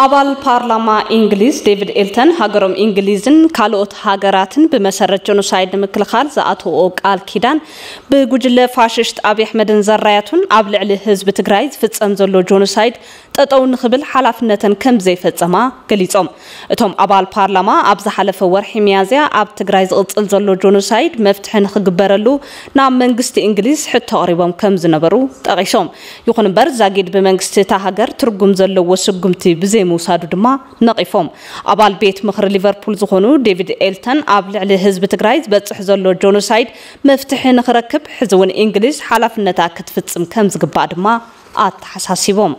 ኣባል ፓርላማ እንግሊዝ ዴቪድ ኤልተን፣ ሃገሮም እንግሊዝን ካልኦት ሃገራትን ብመሰረት ጀኖሳይድ ንምክልኻል ዝኣተዎ ቃል ኪዳን ብጉጅለ ፋሽስት ኣብይ ኣሕመድን ዘራያቱን ኣብ ልዕሊ ህዝቢ ትግራይ ዝፍጸም ዘሎ ጀኖሳይድ ጠጠው ንኽብል ሓላፍነተን ከም ዘይፈጸማ ገሊጾም። እቶም ኣባል ፓርላማ ኣብ ዝሓለፈ ወርሒ ሚያዝያ ኣብ ትግራይ ዝቕጽል ዘሎ ጀኖሳይድ መፍትሒ ንኽግበረሉ ናብ መንግስቲ እንግሊዝ ሕቶ ኣቕሪቦም ከም ዝነበሩ ጠቒሶም። ይኹን እምበር ዛጊድ ብመንግስቲ እታ ሃገር ትርጉም ዘለዎ ስጉምቲ ብዘይምውሳዱ ድማ ነቒፎም። ኣባል ቤት ምኽሪ ሊቨርፑል ዝኾኑ ዴቪድ ኤልተን ኣብ ልዕሊ ህዝቢ ትግራይ ዝበፅሕ ዘሎ ጆኖሳይድ መፍትሒ ንኽረክብ ሕዚ እውን እንግሊዝ ሓላፍነታ ክትፍፅም ከም ዝግባእ ድማ ኣተሓሳሲቦም።